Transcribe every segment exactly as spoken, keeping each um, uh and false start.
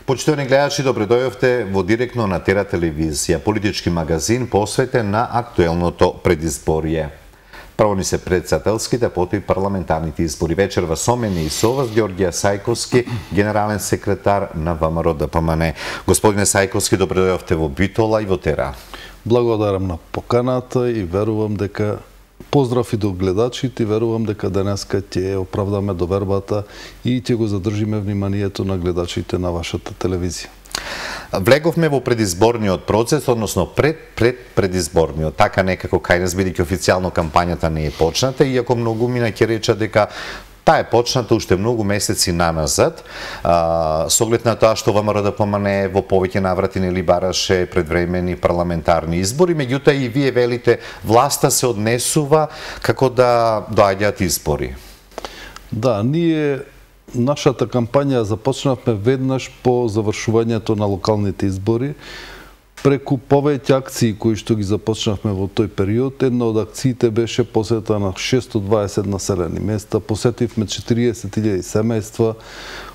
Почитувани гледачи, добре дојдовте во директно на Тера телевизија, политички магазин посветен на актуелното предизборие. Прво ни се председателските, потоа и парламентарните избори. Вечерва со мене и со вас Ѓорѓе Сајковски, генерален секретар на ВМРО Д П М Н. Господине Сајковски, добре дојдовте во Битола и во Тера. Благодарам на поканата и верувам дека поздрав и до гледачите, верувам дека денеска ќе оправдаме довербата и ќе го задржиме вниманието на гледачите на вашата телевизија. Влеговме во предизборниот процес, односно пред пред предизборниот. Така некако кај нас, бидејќи официјално кампањата не е почната, иако многу мина ќе речат дека таа е почната уште многу месеци наназад, а, со оглед на тоа што ВМРО Д П М Н во повеќе наврати нели бараше предвремени парламентарни избори, меѓутоа и вие велите власта се однесува како да доаѓаат избори. Да, ние нашата кампања започнавме веднаш по завршувањето на локалните избори. Преку повеќе акции кои што ги започнавме во тој период, една од акциите беше посета на шестстотини и дваесет населени места, посетивме четириесет илјади семејства,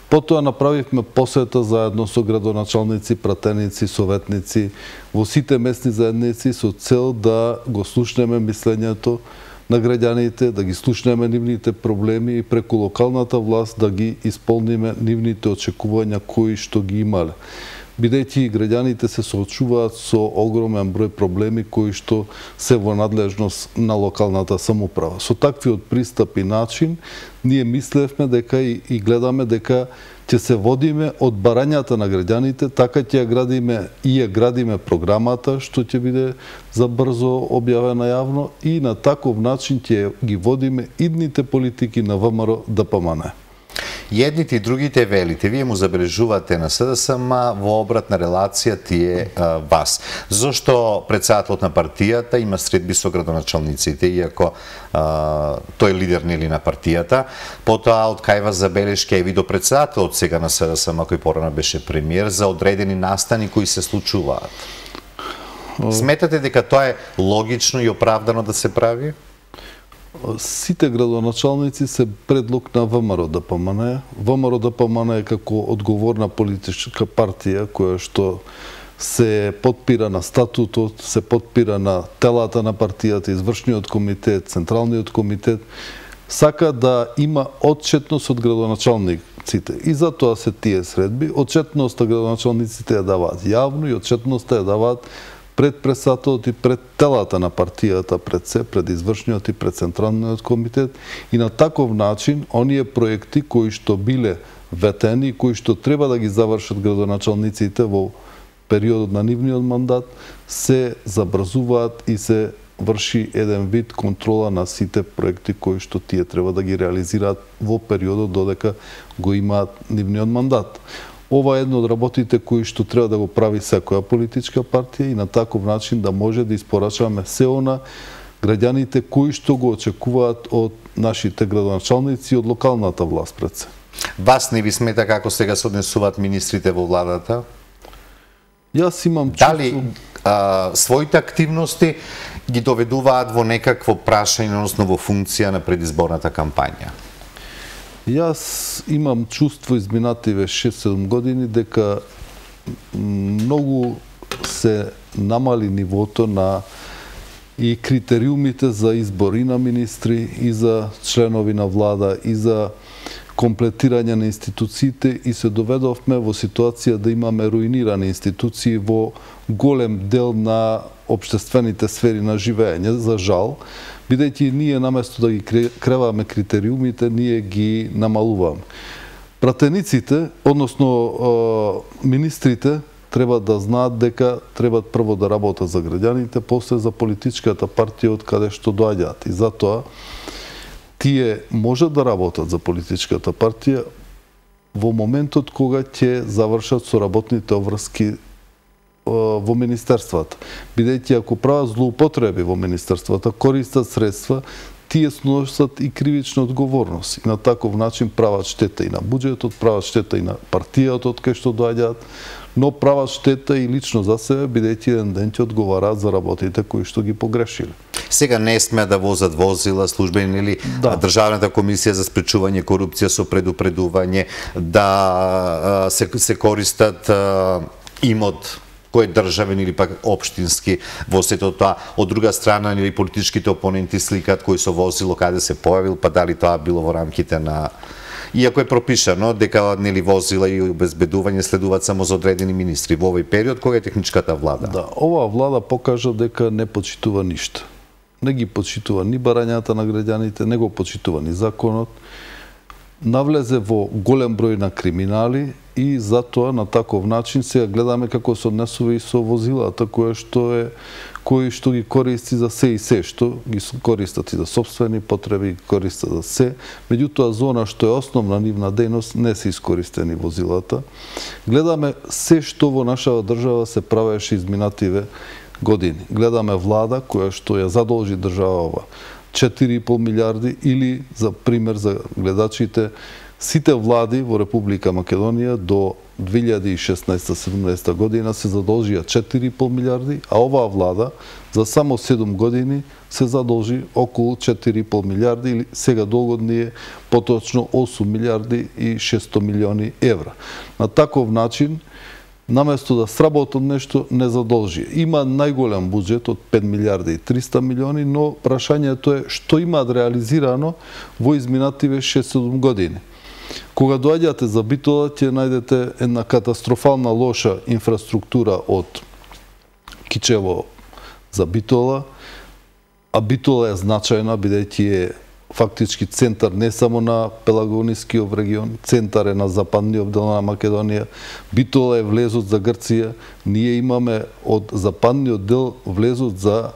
потоа направивме посета заедно со градоначалници, пратеници, советници во сите местни заедници со цел да го слушнеме мислењето на граѓаните, да ги слушнеме нивните проблеми и преку локалната власт да ги исполниме нивните очекувања кои што ги имале. Бидејќи граѓаните се соочуваат со огромен број проблеми кои што се во надлежност на локалната самоуправа. Со таквиот пристап и начин, ние мислевме дека и, и гледаме дека ќе се водиме од барањата на граѓаните, така ќе ја градиме и ја градиме програмата, што ќе биде за брзо објавена јавно и на таков начин ќе ги водиме идните политики на ВМРО Д П М Н. Едните и другите велите, вие му забележувате на С Д С М во обратна релација тие а, вас. Зошто председателот на партијата има средби со градоначалниците, иако а, тој е лидер нели на партијата, потоа откајва забелешки и до председателот сега на С Д С М, кој порано беше премиер, за одредени настани кои се случуваат. Сметате дека тоа е логично и оправдано да се прави? Сите градоначалници се предлог на ВМРО Д П М Н. ВМРО Д П М Н е како одговорна политичка партија која што се подпира на статутот, се подпира на телата на партијата, извршниот комитет, централниот комитет, сака да има отчетност од градоначалниците. И затоа се тие средби. Отчетноста градоначалниците ја даваат јавно и отчетноста ја даваат пред председателот и пред телата на партијата, пред се, пред извршниот и пред централниот комитет, и на таков начин оние проекти кои што биле ветени, кои што треба да ги завршат градоначалниците во периодот на нивниот мандат, се забрзуваат и се врши еден вид контрола на сите проекти кои што тие треба да ги реализираат во периодот додека го имаат нивниот мандат. Ова е едно од работите кои што треба да го прави секоја политичка партија и на таков начин да може да испорачаме се она граѓаните кои што го очекуваат од нашите градоначалници и од локалната власт пред се. Вас не ви смета како сега се однесуваат министрите во владата? Јас имам чувство... Дали а, своите активности ги доведуваат во некакво прашање, односно во функција на предизборната кампања? Јас имам чувство изминативе шест-седум години дека многу се намали нивото на и критериумите за избор и на министри, и за членови на влада, и за комплетирање на институциите, и се доведовме во ситуација да имаме руинирани институции во голем дел на општествените сфери на живење, за жал, бидејќи ние наместо да ги креваме критериумите, ние ги намалуваме. Пратениците, односно министрите, треба да знаат дека треба прво да работат за граѓаните, после за политичката партија од каде што доаѓаат. И затоа тие можат да работат за политичката партија во моментот кога ќе завршат со работните обврски во министерствата. Бидејќи ако прават злоупотреби во министерствата, користат средства, тие сносат и кривична одговорност. И на таков начин прават штета и на буџетот, прават штета и на партијата од кај што доаѓаат, но прават штета и лично за себе, бидејќи еден ден ќе одговараат за работите кои што ги погрешиле. Сега не смеа да возат возила, службени или Да. Државната комисија за спречување корупција со предупредување, да се, се користат имот кој е државен или пак општински во сето тоа. Од друга страна, или политичките опоненти сликат кој со возило каде се појавил, па дали тоа било во рамките на... Иако е пропишано дека нели возила и обезбедување следуваат само за одредени министри во овој период кога е техничката влада. Да, оваа влада покажа дека не почитува ништо. Не ги почитува ни барањата на граѓаните, не го почитува ни законот. Навлезе во голем број на криминали и затоа на таков начин сега гледаме како се однесува и со возилата кои што е кои што ги користи за се и се, што ги користат и за сопствени потреби, ги користат за се. Меѓутоа зона што е основна нивна дејност не се искористени возилата. Гледаме се што во нашава држава се правеше изминативе години. Гледаме влада која што ја задолжи државава четири и пол милиарди или, за пример за гледачите, сите влади во Република Македонија до две илјади и шеснаесета седумнаесета година се задолжија четири и пол милиарди, а оваа влада за само седум години се задолжи околу четири и пол милиарди или сега догодни е поточно осум милиарди и шестsto милиони евра. На таков начин, наместо да сработат нешто, не задолжи. Има најголем буџет од пет милиарди и триста милиони, но прашањето е што имаат реализирано во изминативе шест-седум години. Кога доаѓате за Битола, ќе најдете една катастрофална лоша инфраструктура од Кичево за Битола, а Битола е значајна, бидејќи е фактички центар не само на Пелагонискиот регион, центар е на западниот дел на Македонија. Битола е влезот за Грција. Ние имаме од западниот дел влезот за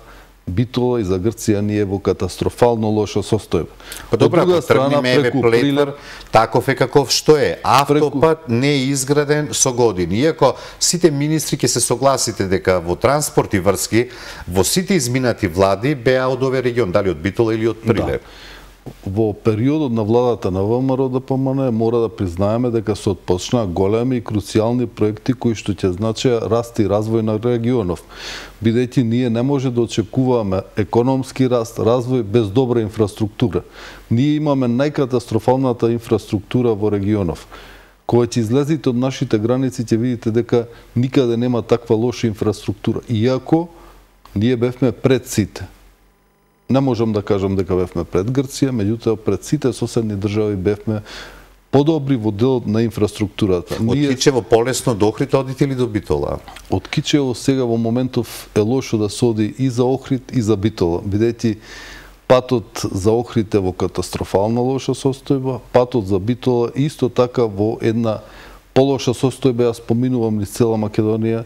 Битола и за Грција ние во катастрофално лоша состојба. Па добра, ако тргнеме еве Плетвар, таков е каков што е. Автопат не е изграден со години. Иако сите министри ќе се согласите дека во транспорт и врски, во сите изминати влади беа од овој регион, дали од Битола или од Прилеп. Да. Во периодот на владата на ВМРО ДПМН мора да признаеме дека се отпочнаа големи и круцијални проекти кои што ќе значеа раст и развој на регионов, бидејќи ние не може да очекуваме економски раст, развој без добра инфраструктура. Ние имаме најкатастрофалната инфраструктура во регионов. Кога ќе излезете од нашите граници ќе видите дека никаде нема таква лоша инфраструктура. Иако ние бевме пред сите. Не можам да кажам дека бевме пред Грција, меѓутоа пред сите соседни држави бевме подобри во делот на инфраструктурата. Од Кичево полесно до Охрид одите или до Битола? Од Кичево сега во моментов е лошо да се оди и за Охрид и за Битола, бидејќи патот за Охрид е во катастрофална лоша состојба, патот за Битола исто така во една полоша состојба, јас споминувам низ цела Македонија.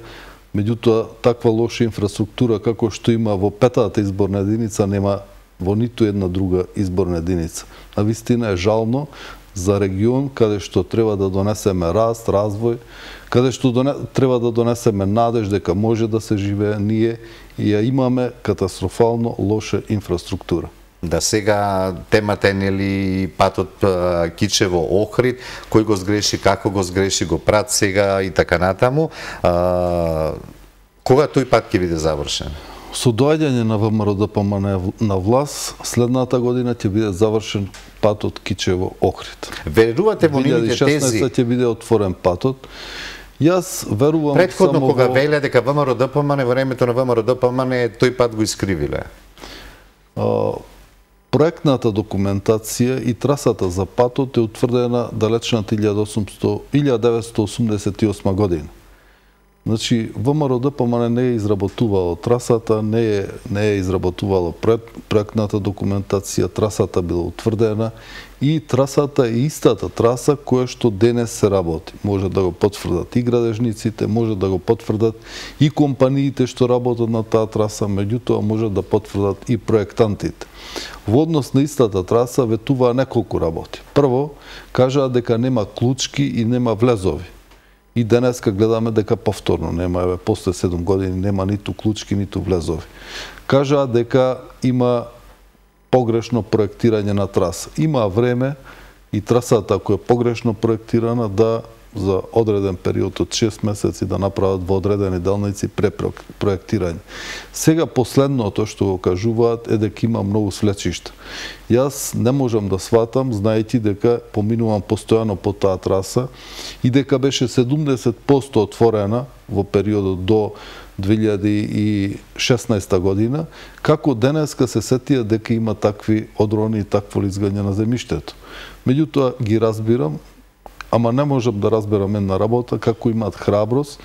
Меѓутоа, таква лоша инфраструктура како што има во петата изборна единица нема во ниту една друга изборна единица. Навистина е жално за регион каде што треба да донесеме раст, развој, каде што доне... треба да донесеме надеж дека може да се живее, ние и ја имаме катастрофално лоша инфраструктура. Да, сега темата е нели патот Кичево-Охрид, кој го сгреши, како го сгреши, го прат сега и така натаму. А, кога тој пат ќе биде завршен? Со доаѓање на ВМРО ДПМН на власт, следната година ќе биде завршен патот Кичево-Охрид. Верувате во нивните тези? две илјади и шеснаесета ќе биде отворен патот. Јас верувам Предходно само кога во... велеа дека ВМРО ДПМН во времето на ВМРО ДПМН тој пат го искривиле. А, проектната документација и трасата за патот е утврдена далечната илјада деветстотини осумдесет и осма година. Значи, ВМРО ДПМН не е изработувало трасата, не е, не е изработувало проектната документација, трасата била утврдена и трасата е истата траса која што денес се работи. Може да го потврдат и градежниците, може да го потврдат и компаниите што работат на таа траса, меѓутоа може да потврдат и проектантите. Во однос на истата траса ветуваа неколку работи. Прво, кажаа дека нема клучки и нема влезови. И денеска гледаме дека повторно нема, еве, после седум години нема ниту клучки, ниту влезови. Кажаа дека има погрешно проектирање на траса. Има време и трасата, ако е погрешно проектирана, да за одреден период од шест месеци да направат во одредени делници препроектирање. Сега последното што го кажуваат е дека има многу свлечишта. Јас не можам да сватам, знаејќи дека поминувам постојано по таа траса и дека беше седумдесет проценти отворена во периодот до две илјади и шеснаесета година, како денеска се сетија дека има такви одрони и такво лизгање на земјиштето. Меѓутоа ги разбирам, ама не можам да разберам една работа како имаат храброст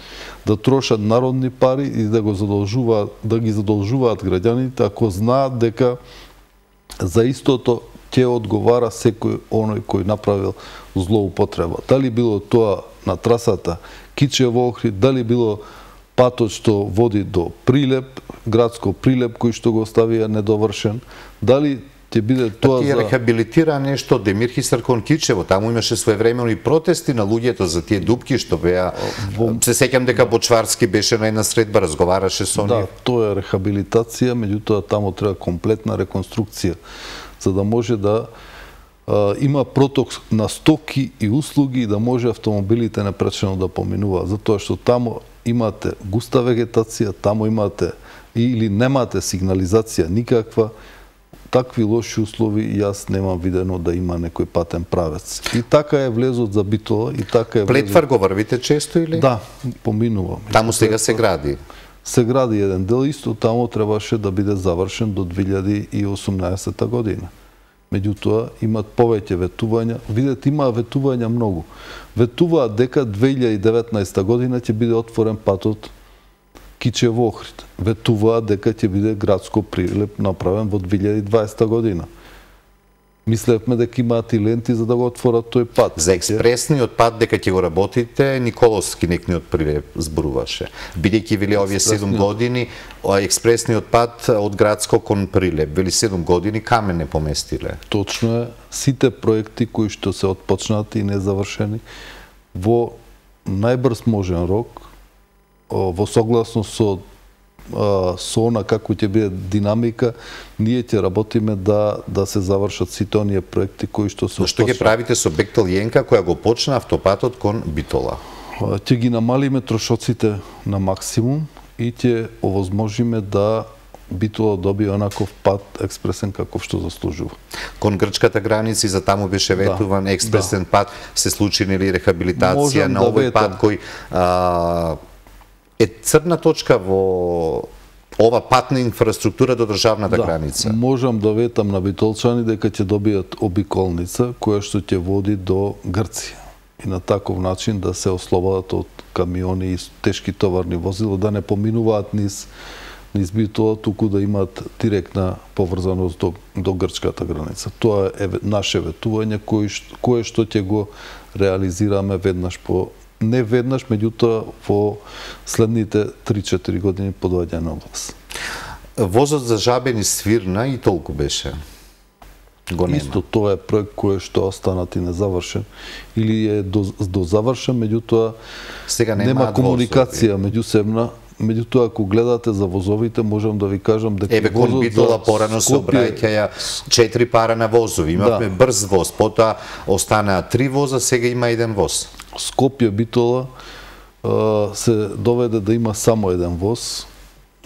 да трошат народни пари и да го задолжуваат, да ги задолжуваат граѓаните ако знаат дека за истото ќе одговара секој оној кој направил злоупотреба. Дали било тоа на трасата Кичево Охрид, дали било патот што води до Прилеп, градско Прилеп кој што го оставија недовршен, дали ќе биде тоа за... Тие рехабилитира нешто Демирхистар кон Кичево, таму имаше своевремено и протести на луѓето за тие дупки што беа... Во... Се сеќам дека Бочварски беше на една средба, разговараше со Да, нив. тоа е рехабилитација, меѓутоа таму треба комплетна реконструкција, за да може да а, има проток на стоки и услуги и да може автомобилите непречено да поминуваат, затоа што таму имате густа вегетација, таму имате или немате сигнализација никаква, такви лоши услови и јас немам видено да има некој патен правец. И така е влезот за Битола, и така е влезот... Плетвар го врвите често или? Да, поминувам. Таму сега се гради? Се гради еден дел, исто таму требаше да биде завршен до две илјади и осумнаесета година. Меѓутоа, имат повеќе ветувања. Видете, има ветувања многу. Ветуваат дека две илјади и деветнаесета година ќе биде отворен патот Кичево Охрид. Ветуваат дека ќе биде градско Прилеп направен во две илјади и дваесета година. Мислевме дека имаат и ленти за да го отворат тој пат. За експресниот пат дека ќе го работите, Николовски некниот Прилеп зборуваше. Бидејќи вели овие седум години, експресниот пат од градско кон Прилеп, вели седум години камен не поместиле. Точно е. Сите проекти кои што се отпочнати и незавршени во најбрз можен рок, во согласност со со она како ќе биде динамика, ние ќе работиме да да се завршат сите оние проекти кои што се. Што ќе правите со Бектел Јенка која го почна автопатот кон Битола? Ќе ги намалиме трошоците на максимум и ќе овозможиме да Битола добие онаков пат експресен каков што заслужува. Кон грчката граница и за таму беше ветуван да, експресен да. Пат, се случи нели рехабилитација на да овој ветам. Пат кој а, е црна точка во ова патна инфраструктура до државната да, граница. Можам да ветам на битолчани дека ќе добијат обиколница која што ќе води до Грција. И на таков начин да се ослободат од камиони и тешки товарни возила, да не поминуваат низ низ Битола, туку да имаат директна поврзаност до, до грчката граница. Тоа е наше ветување кое, кое што ќе го реализираме веднаш по не веднаш, меѓутоа во следните три-четири години по доаѓање на власт. Возот за Жабен и Свирна и толку беше. Го нема. Исто тоа е проект кој што останат и незавршен или е до, до завршен, меѓутоа сега нема, нема комуникација меѓусебна. Меѓутоа, ако гледате за возовите, можам да ви кажам дека Еве кон Битола порано се обраќаја четири пара на возови. Имавме да. Брз воз, потоа останаа три воза, сега има еден воз. Скопје Битола се доведе да има само еден воз.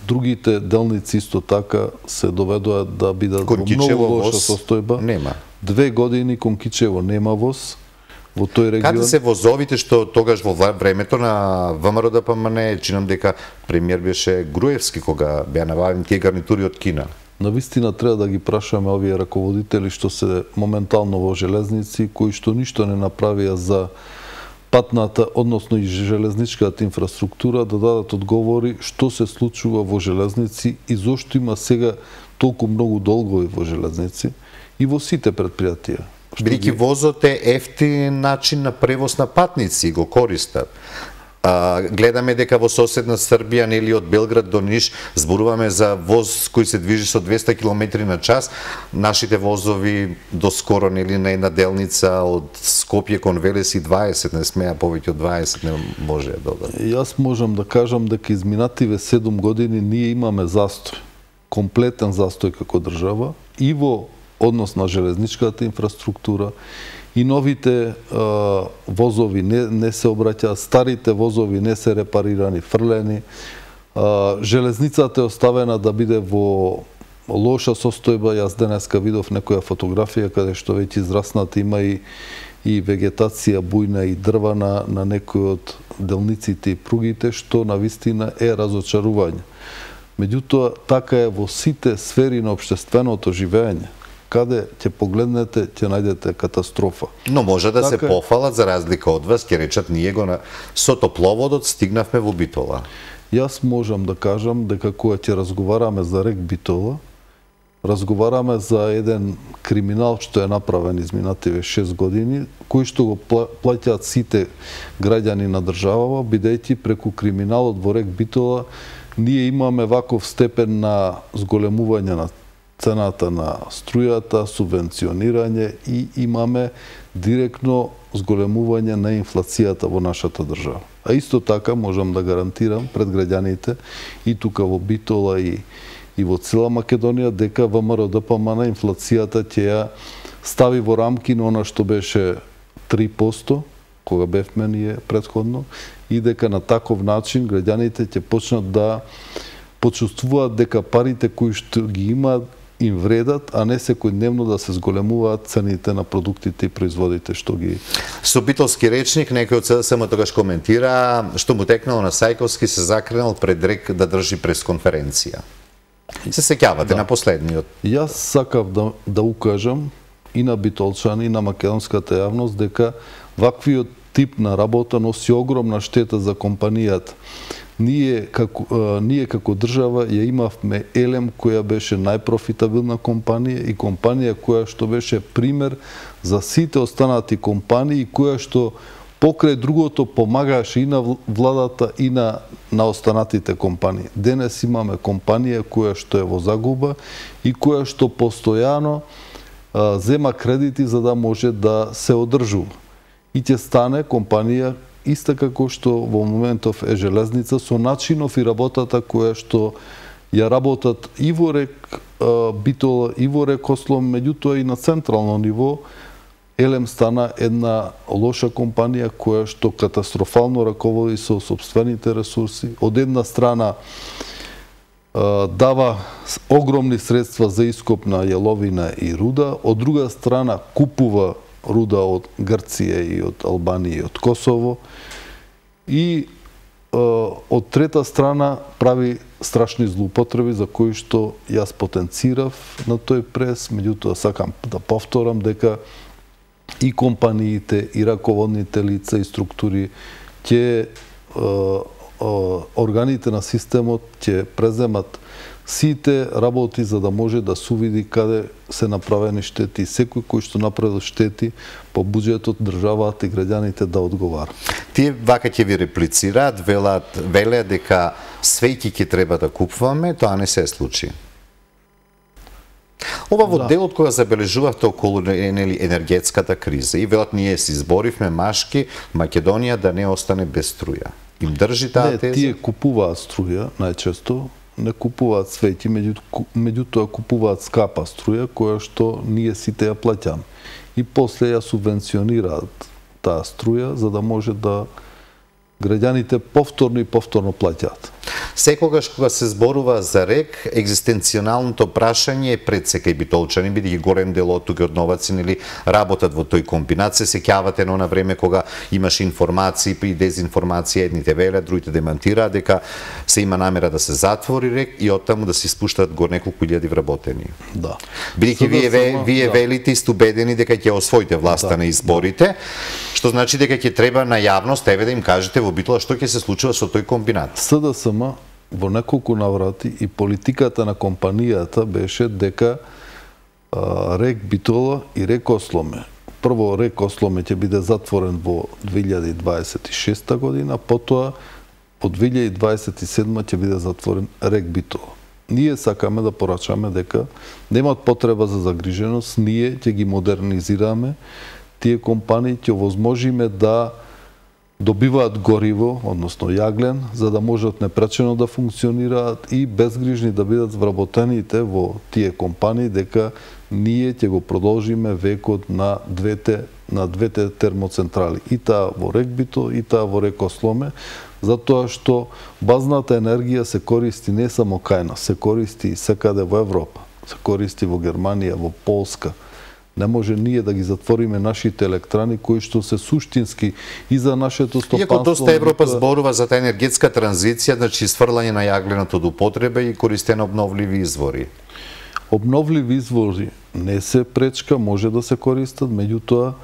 Другите делници исто така се доведоа да бидат во многу лоша состојба. Нема. Две години кон Кичево нема воз. Во тој регион. Каде се возовите што тогаш во времето на ВМРО-ДПМН, чинам дека премиер беше Груевски кога беа набавени тие гарнитури од Кина. Навистина треба да ги прашаме овие раководители што се моментално во железници, кои што ништо не направија за патната, односно и железничката инфраструктура, да дадат одговори што се случува во железници и зошто има сега толку многу долгови во железници и во сите предпријатија. Бидејќи возот е ефтин начин на превоз на патници, го користат. А, гледаме дека во соседна Србија, нели од Белград до Ниш, зборуваме за воз кој се движи со двеста километри на час. Нашите возови доскоро, нели, на една делница од Скопје кон Велес и дваесет, не смеа повеќе од дваесет, не може да додат. Јас можам да кажам дека изминативе седум години ние имаме застој, комплетен застој како држава и во однос на железничката инфраструктура, и новите а, возови не, не се обраќаат, старите возови не се репарирани, фрлени. А, железницата е оставена да биде во лоша состојба. Јас денеска видов некоја фотографија каде што веќе израснати има и, и вегетација бујна и дрва на, на некои од делниците и пругите, што навистина е разочарување. Меѓутоа, така е во сите сфери на општественото живење. Каде ќе погледнете, ќе најдете катастрофа. Но може да така... се пофалат, за разлика од вас, ќе речат, ние го на... со топловодот стигнавме во Битола. Јас можам да кажам дека кога ќе разговараме за рек Битола, разговараме за еден криминал што е направен изминативе шест години, кој што го плаќаат сите граѓани на државава, бидејќи преку криминалот во рек Битола ние имаме ваков степен на зголемување на цената на струјата, субвенционирање и имаме директно зголемување на инфлацијата во нашата држава. А исто така можам да гарантирам пред граѓаните и тука во Битола и и во цела Македонија дека ВМРО-ДПМН инфлацијата ќе ја стави во рамки на она што беше три проценти кога бевме ние претходно, и дека на таков начин граѓаните ќе почнат да почувствуваат дека парите кои што ги имаат им вредат, а не секојдневно да се зголемуваат цените на продуктите и производите што ги... Со битолски речник, некој од СДСМ тогаш коментира што му текнало на Сајковски, се закренал пред рек да држи пресконференција. Се сеќавате да. На последниот. Јас сакав да, да укажам и на битолчани, и на македонската јавност дека ваквиот тип на работа носи огромна штета за компанијата. Ние како, а, ние како држава ја имавме Елем, која беше најпрофитабилна компанија и компанија која што беше пример за сите останати компании, која што покрај другото помагааше и на владата и на, на останатите компании. Денес имаме компанија која што е во загуба и која што постојано а, зема кредити за да може да се одржува. И ќе стане компанија иста како што во моментов е железница, со начинов и работата која што ја работат и во рек а, Битола, и во рек Ослом, меѓутоа и на централно ниво. Елем стана една лоша компанија која што катастрофално раководи со сопствените ресурси. Од една страна а, дава огромни средства за ископ на јаловина и руда, од друга страна купува руда од Грција и од Албанија и од Косово, и а, од трета страна прави страшни злоупотреби за кои што јас потенцирав на тој прес, меѓутоа сакам да повторам дека и компаниите, и раководните лица и структури ќе органите на системот ќе преземат сите работи за да може да се види каде се направени штети, секој кој што направил штети по буџетот, државата и граѓаните да одговара. Тие вака ќе ви реплицираат, велат, велеа дека свејки ќе треба да купуваме, тоа не се случи. Ова во да. Делот кога забележувавте околу нели енергетската криза и велат ние се изборивме машки Македонија да не остане без струја. Им држи таа теза? Не, тие купуваат струја најчесто, не купуваат свеќи, меѓутоа купуваат скапа струја која што ние сите ја плаќаме. И после ја субвенционираат таа струја за да може да граѓаните повторно и повторно плаќаат. Секогаш кога се зборува за рек, екзистенционалното прашање е пред секај битолчани, бидејќи голем дел од тука од новаци нели работат во тој комбинат. Се сеќавате на она време кога имаше информации и дезинформација, едните велат, другите демантираат дека се има намера да се затвори рек и оттаму да се испуштат го неколку илјади вработени. Да. Бидејќи вие вие, вие да. велите и сте убедени дека ќе освоите власта да. на изборите, што значи дека ќе треба на јавност еве да им кажете во Битола што ќе се случува со тој комбинат. СДСМ во неколку наврати и политиката на компанијата беше дека а, рек Битола и рек Осломе. Прво рек Осломе ќе биде затворен во две илјади дваесет и шеста година, потоа од две илјади дваесет и седма ќе биде затворен рек Битола. Ние сакаме да порачаме дека немаат потреба за загриженост, ние ќе ги модернизираме тие компании, ќе овозможиме да добиваат гориво, односно јаглен, за да можат непречено да функционираат и безгрижни да бидат вработените во тие компании, дека ние ќе го продолжиме векот на двете на двете термоцентрали, и таа во Регбито, и таа во Рекосломе, затоа што базната енергија се користи не само кај нас, се користи и секаде во Европа, се користи во Германија, во Полска. Не може ние да ги затвориме нашите електрани кои што се суштински и за нашето стопанство. Иако доста Европа зборува за таа енергетска транзиција, значи сврлање на јагленото од употреба и користење на обновливи извори. Обновливи извори не се пречка, може да се користат, меѓутоа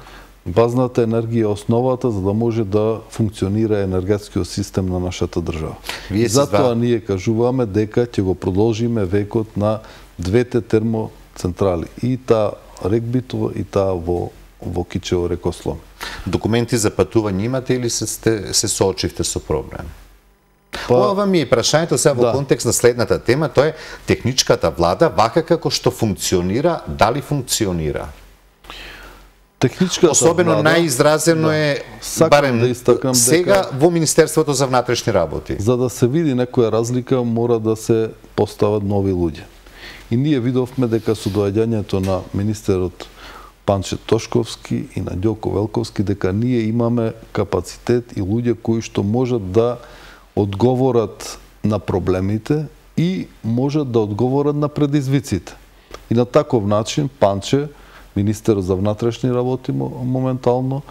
базната енергија е основата за да може да функционира енергетскиот систем на нашата држава. Затоа ние кажуваме дека ќе го продолжиме векот на двете термоцентрали, и таа Регбито и таа во во Кичево Рекослом. Документи за патување имате или се сте, се соочивте со проблем? Па, ова ми е прашањето сега во да. контекст на следната тема, тоа е техничката влада, вака како што функционира, дали функционира? Техничката Особено влада, најизразено да. е Сакам барем да истакам сега дека, во Министерството за внатрешни работи. За да се види некоја разлика, мора да се постават нови луѓе. И ние видовме дека со доаѓањето на министерот Панче Тошковски и на Ѓоко Велковски, дека ние имаме капацитет и луѓе кои што можат да одговорат на проблемите и можат да одговорат на предизвиците. И на таков начин Панче, министерот за внатрешни работи моментално,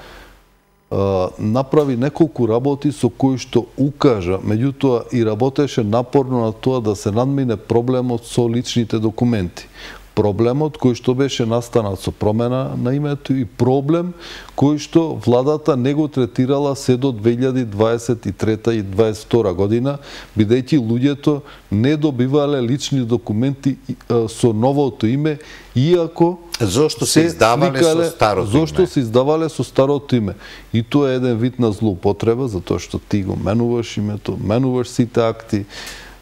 направи неколку работи со кои што укажа, меѓутоа и работеше напорно на тоа да се надмине проблемот со личните документи. Проблемот кој што беше настанат со промена на името и проблем кој што владата не го третирала се до две илјади дваесет и трета и дваесет и втора година, бидејќи луѓето не добивале лични документи со новото име, иако Зошто се издавале со старото име? Зошто се издавале со старото име? И тоа е еден вид на злоупотреба, затоа што ти го менуваш името, менуваш сите акти,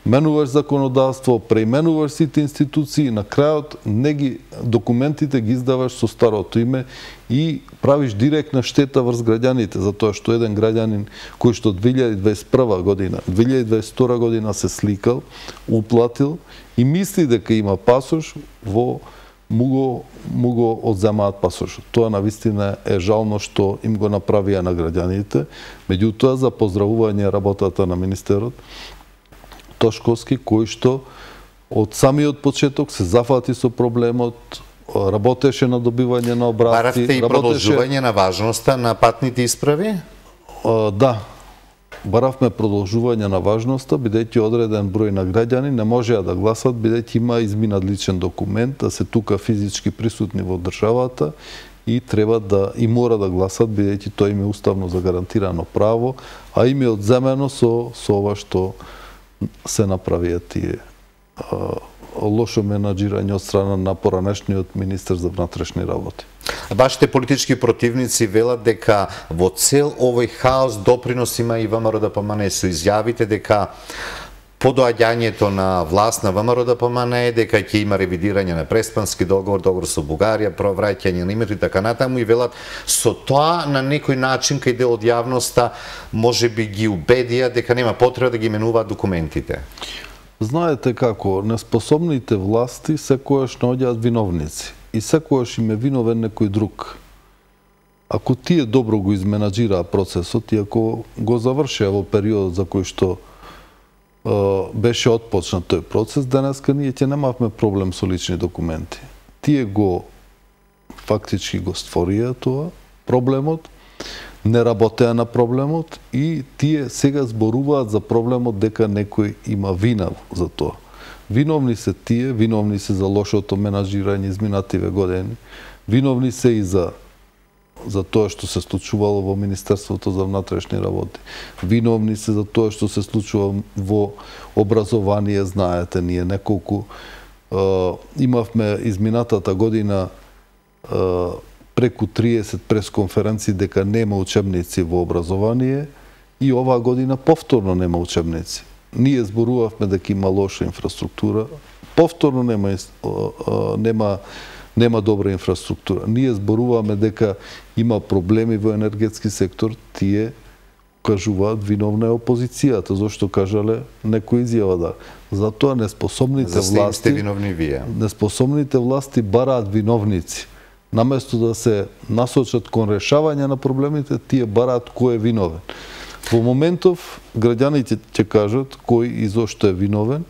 менуваш законодавство, преименуваш сите институции, на крајот не ги документите ги издаваш со старото име и правиш директна штета врз граѓаните, затоа што еден граѓанин кој што две илјади дваесет и прва година, две илјади дваесет и втора година се сликал, уплатил и мисли дека има пасош, во му го, му го одземаат пасошот. Тоа навистина е жално што им го направија на граѓаните, меѓутоа за поздравување работата на министерот Тошковски, кој што од самиот почеток се зафати со проблемот, работеше на добивање на обратки. Баравте и продолжување на важноста на патните исправи? А, да. Баравме продолжување на важноста, бидејќи одреден број на граѓани не можеа да гласат, бидејќи има изминат личен документ, да се тука физички присутни во државата и треба да и мора да гласат, бидејќи тоа им е уставно загарантирано право, а им е одземено со, со ова што се направија тие а, лошо менаџирање од страна на поранешниот министер за внатрешни работи. Вашите политички противници велат дека во цел овој хаос допринос има и ВМРО-ДПМНЕ, со изјавите дека по доаѓањето на власт на ВМРО-ДПМНЕ дека ќе има ревидирање на Преспански договор, договор со Бугарија, провраќање на името и така натаму, и велат со тоа на некој начин кај дел од јавноста можеби ги убедија дека нема потреба да ги менуваат документите. Знаете како, неспособните власти секојаш наоѓаат виновници и секојаш им е виновен некој друг. Ако тие добро го изменаџираа процесот и ако го завршеа во периодот за кој што беше отпочнат тој процес, денеска ние ќе немавме проблем со лични документи. Тие го фактички го створија тоа проблемот, не работеа на проблемот и тие сега зборуваат за проблемот дека некој има вина за тоа. Виновни се тие, виновни се за лошото менаџирање изминативе години, виновни се и за за тоа што се случувало во Министерството за внатрешни работи. Виновни се за тоа што се случува во образование, знаете, ние неколку е, имавме изминатата година е, преку триесет пресконференции дека нема учебници во образование и оваа година повторно нема учебници. Ние зборувавме дека има лоша инфраструктура, повторно нема нема нема добра инфраструктура. Ние зборуваме дека има проблеми во енергетски сектор, тие кажуваат виновна е опозицијата, зашто кажале некој изјава да. Затоа неспособните власти... За сте виновни вие. Неспособните власти бараат виновници. Наместо да се насочат кон решавање на проблемите, тие бараат кој е виновен. Во моментов, граѓаните ќе кажат кој и зошто е виновен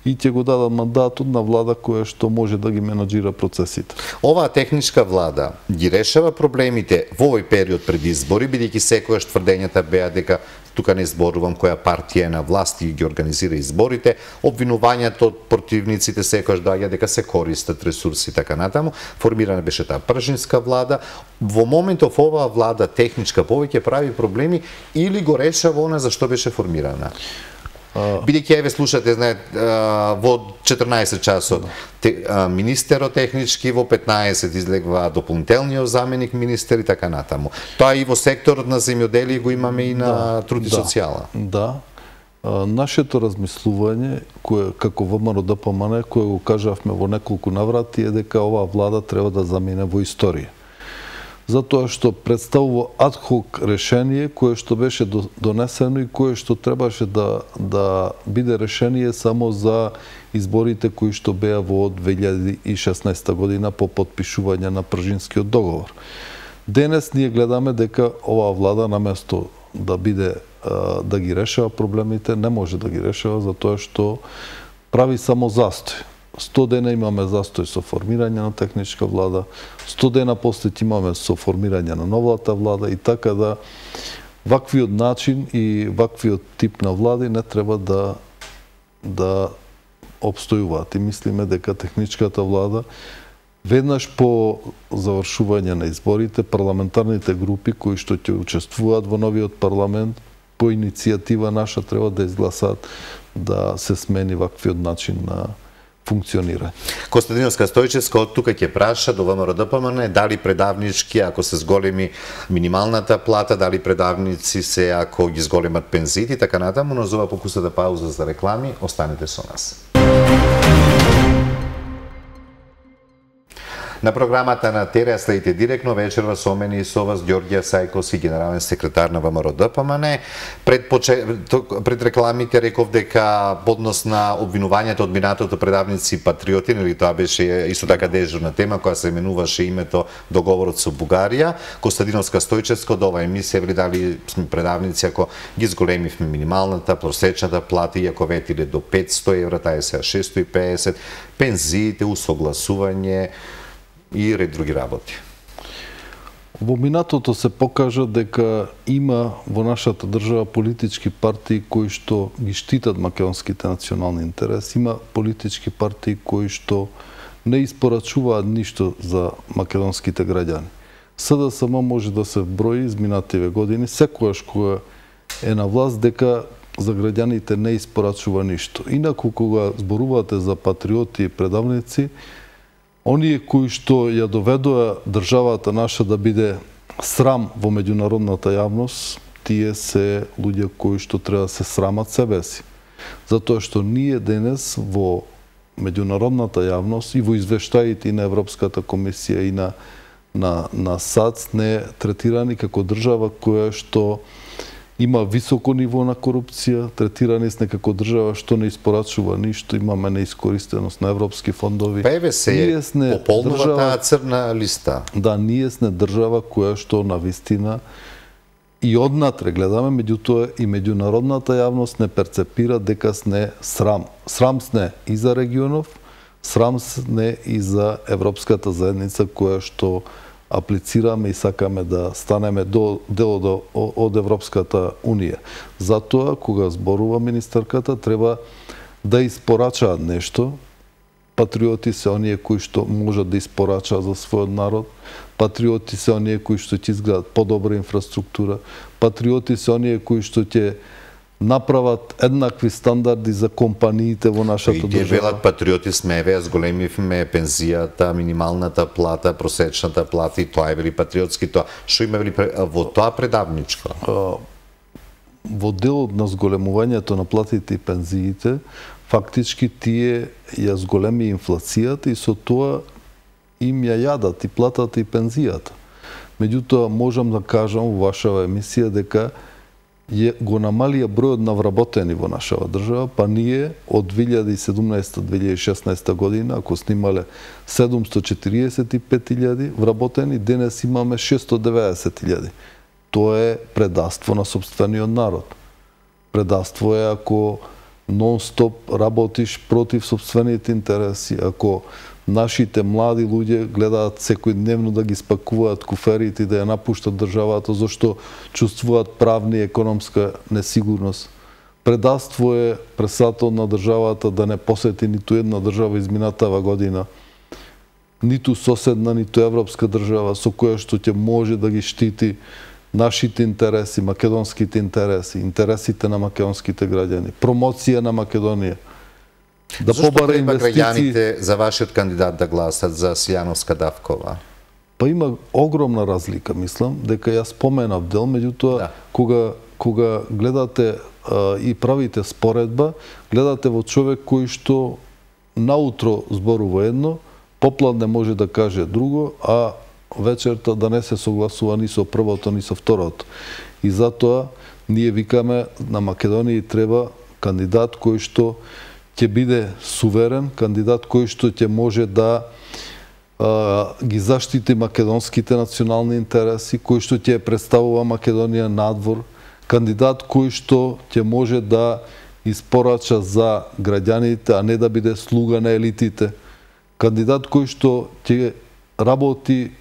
и ќе го дадат мандатот на влада која што може да ги менаџира процесите. Оваа техничка влада ги решава проблемите во овој период пред избори, бидејќи секогаш тврдењата беа дека тука не зборувам која партија е на власт и ги организира изборите, обвинувањето од противниците секогаш доаѓа дека се користат ресурси и така натаму. Формирана беше таа пржинска влада. Во моментов оваа влада техничка повеќе прави проблеми или го решава она за што беше формирана? Бидејќи еве слушате, знаете, во четрнаесет часот министерот технички, во петнаесет излегва дополнителниот заменик министер и така натаму. Тоа и во секторот на земјоделие го имаме и на труд и социјала. Да. Нашето размислување, кое како ВМРО-ДПМН, кое го кажавме во неколку наврати, е дека оваа влада треба да замине во историја. Затоа што представува адхок решение кое што беше донесено и кое што требаше да, да биде решение само за изборите кои што беа во две илјади и шеснаесета година по потпишување на Пржинскиот договор. Денес ние гледаме дека оваа влада наместо да биде да ги решава проблемите, не може да ги решава затоа што прави само застој. сто дена имаме застој со формирање на техничка влада, сто дена после имаме со формирање на новата влада и така да ваквиот начин и ваквиот тип на влади не треба да да обстојуваат. И мислиме дека техничката влада веднаш по завршување на изборите, парламентарните групи кои што ќе учествуваат во новиот парламент по иницијатива наша треба да изгласаат да се смени ваквиот начин на функционира. Костадиновска Стојчевска од тука ќе праша до ВМРО-ДПМН дали предавнички ако се зголеми минималната плата, дали предавници се ако ги зголемат пензиите, така натаму, но за ова покусата пауза за реклами, останете со нас. На програмата на Тереа следите директно вечерва со мене и со вас Ѓорѓе Сајковски, генерален секретар на ВМРО-ДПМН. Пред, поче... пред рекламите реков дека поднос на обвинувањето од минатото предавници патриоти, или тоа беше исто така дежурна тема која се именуваше името договорот со Бугарија. Костадиновска Стојчевска од оваа емисија вели дали сме предавници ако ги зголемивме минималната, просечната плата и ако ветиле до петсто евра, таа е сега шестоста и педесет, пензиите, усогласување и ред други работи. Во минатото се покажа дека има во нашата држава политички партии кои што ги штитат македонските национални интереси, има политички партии кои што не испорачуваат ништо за македонските граѓани. СДСМ може да се брои изминативе години, секогаш кога е на власт дека за граѓаните не испорачува ништо. Инаку кога зборувате за патриоти и предавници, оние кои што ја доведоа државата наша да биде срам во меѓународната јавност, тие се луѓе кои што треба да се срамат себе си. Затоа што ние денес во меѓународната јавност и во извештаите и на Европската комисија и на на на САЦ не третирани како држава која што има високо ниво на корупција, третирани сме како држава што не испорачува ништо, имаме неискористеност на европски фондови. Па еве се пополнува таа црна листа. Да, ние сме држава која што на вистина и однатре гледаме, меѓутоа и меѓународната јавност не перцепира дека сме срам. Срам сме и за регионов, срам сме и за Европската заедница која што аплицираме и сакаме да станеме до, дел од Европската Унија. Затоа, кога зборува министерката, треба да испорачаат нешто. Патриоти се оние кои што можат да испорачаат за својот народ. Патриоти се оние кои што ќе изградат подобра инфраструктура. Патриоти се оние кои што ќе направат еднакви стандарди за компаниите во нашата држава. И велат патриоти сме, еве, зголемивме пензијата, минималната плата, просечната плата и тоа е вели патриотски тоа. Што има вели во тоа предавничко? Во делот на зголемувањето на платите и пензиите, фактички тие ја зголеми инфлацијата и со тоа им ја јадат и платата и пензијата. Меѓутоа, можам да кажам во вашава емисија дека je, го намалија бројот на вработени во нашава држава, па ние од две илјади и седумнаесета до две илјади и шеснаесета година, ако снимале седумстотини и четириесет и пет илјади вработени, денес имаме шестстотини и деветдесет илјади. Тоа е предавство на сопствениот народ. Предавство е ако нон-стоп работиш против сопствените интереси, ако нашите млади луѓе гледаат секојдневно да ги спакуваат куферите и да ја напуштат државата, зашто чувствуваат правна и економска несигурност. Предавство е председател на државата да не посети ниту една држава изминатава година, ниту соседна, ниту европска држава со која што ќе може да ги штити нашите интереси, македонските интереси, интересите на македонските граѓани, промоција на Македонија. Да побара инвестиции. Зашто граѓаните за вашиот кандидат да гласат за Силјановска Давкова? Па има огромна разлика, мислам, дека ја споменав дел, меѓутоа да. кога кога гледате а, и правите споредба, гледате во човек кој што наутро зборува едно, попладне може да каже друго, а вечерта да не се согласува ни со првото, ни со второто. И затоа ние викаме на Македонија треба кандидат кој што ќе биде суверен, кандидат кој што ќе може да а, ги заштити македонските национални интереси, кој што ќе представува Македонија надвор, кандидат кој што ќе може да испорача за граѓаните, а не да биде слуга на елитите, кандидат кој што ќе работи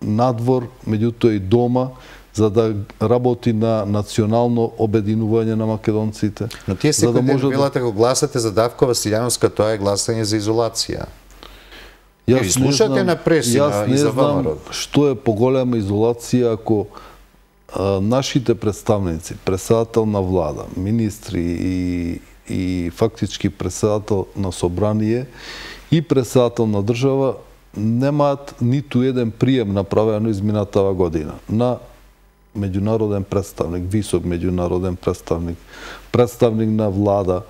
надвор, меѓутоа и дома, за да работи на национално обединување на македонците. Но тие секој да ден велате го гласате за Давкова Силјановска, тоа е гласање за изолација. Јас не слушате на пресина и за ВМРО. Што е поголема изолација ако а, нашите представници, председател на влада, министри и, и фактички председател на собрание и председател на држава немаат ниту еден прием направено изминатава година на меѓународен представник, висок меѓународен представник, представник на влада.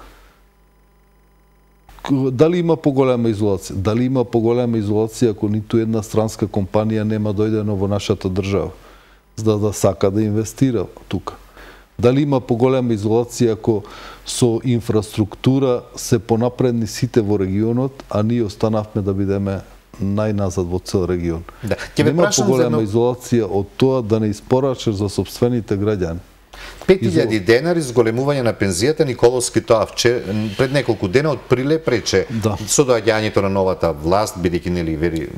Дали има поголема изолација? Дали има поголема изолација ако ниту една странска компанија нема дојдено во нашата држава, за да сака да инвестира тука? Дали има поголема изолација ако со инфраструктура се понапредни сите во регионот, а ние останавме да бидеме најназад во цел регион. Да. Нема поголема изолација од тоа да не испорачаш за сопствените граѓани. пет илјади денари зголемување на пензијата. Николовски тоа пред неколку дена од Приле прече да. Со доаѓањето на новата власт, бидејќи нели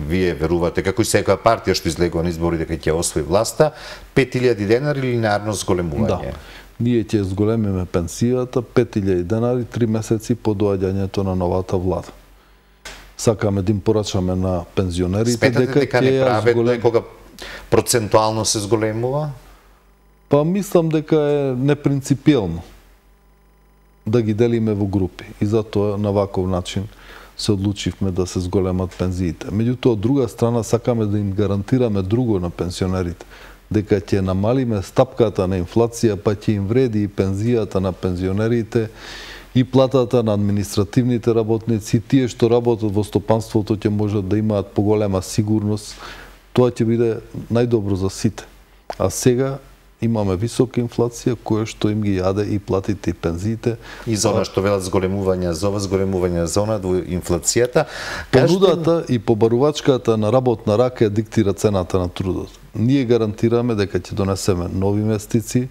вие верувате како и секоја партија што излегува на избори дека ќе освои власта, пет илјади денари линеарно зголемување. Да. Ние ќе зголемиме пенсијата пет илјади денари три месеци по доаѓањето на новата влада. Сакаме да им порачаме на пензионерите. Сметате дека, дека неправедно е кога процентуално се зголемува? Па мислам дека е непринципиелно да ги делиме во групи. И затоа на ваков начин се одлучивме да се зголемат пензиите. Меѓутоа, од друга страна, сакаме да им гарантираме друго на пенсионерите. Дека ќе намалиме стапката на инфлација, па ќе им вреди и пензијата на пензионерите, и платата на административните работници, тие што работат во стопанството ќе можат да имаат поголема сигурност. Тоа ќе биде најдобро за сите. А сега имаме висока инфлација која што им ги јаде и платите и пензиите. И за она што велат зголемување, за ова зголемување, за она инфлацијата. Понудата и побарувачката на работна рака диктира цената на трудот. Ние гарантираме дека ќе донесеме нови инвестиции,